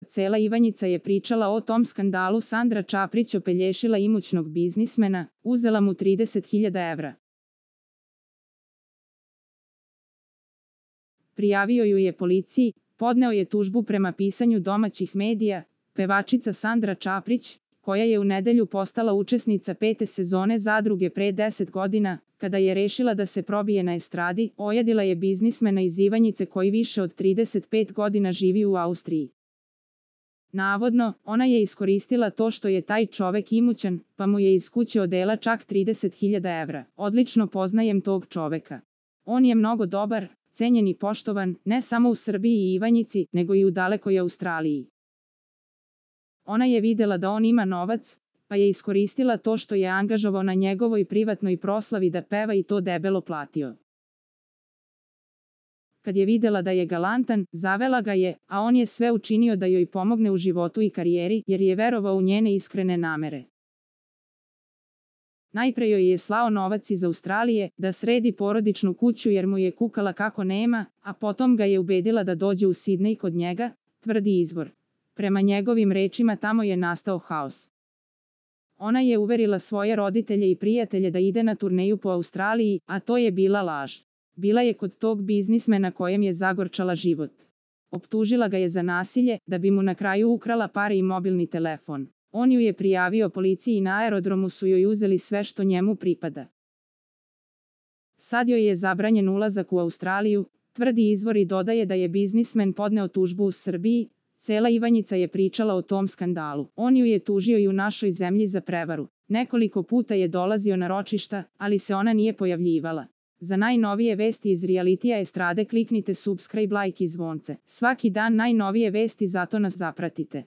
cela Ivanjica je pričala o tom skandalu. Sandra Čaprić opelješila imućnog biznismena, uzela mu 30.000 evra. Prijavio ju je policiji, podneo je tužbu prema pisanju domaćih medija. Pevačica Sandra Čaprić, koja je u nedelju postala učesnica 5. sezone Zadruge pre 10 godina, kada je rešila da se probije na estradi, ojadila je biznismena iz Ivanjice koji više od 35 godina živi u Austriji. Navodno, ona je iskoristila to što je taj čovek imućan, pa mu je iz kuće odela čak 30.000 evra. Odlično poznajem tog čoveka. On je mnogo dobar, cenjen i poštovan, ne samo u Srbiji i Ivanjici, nego i u dalekoj Australiji. Ona je videla da on ima novac, pa je iskoristila to što je angažovao na njegovoj privatnoj proslavi da peva i to debelo platio. Kad je videla da je galantan, zavela ga je, a on je sve učinio da joj pomogne u životu i karijeri, jer je verovao u njene iskrene namere. Najpre joj je slao novac iz Australije, da sredi porodičnu kuću jer mu je kukala kako nema, a potom ga je ubedila da dođe u Sidnej kod njega, tvrdi izvor. Prema njegovim rečima tamo je nastao haos. Ona je uverila svoje roditelje i prijatelje da ide na turneju po Australiji, a to je bila laž. Bila je kod tog biznismena kojem je zagorčala život. Optužila ga je za nasilje, da bi mu na kraju ukrala pare i mobilni telefon. On ju je prijavio policiji i na aerodromu su joj uzeli sve što njemu pripada. Sad joj je zabranjen ulazak u Australiju, tvrdi izvor i dodaje da je biznismen podneo tužbu u Srbiji. Cela Ivanjica je pričala o tom skandalu. On ju je tužio i u našoj zemlji za prevaru. Nekoliko puta je dolazio na ročišta, ali se ona nije pojavljivala. Za najnovije vesti iz realitija estrade kliknite subscribe, like i zvonce. Svaki dan najnovije vesti, zato nas zapratite.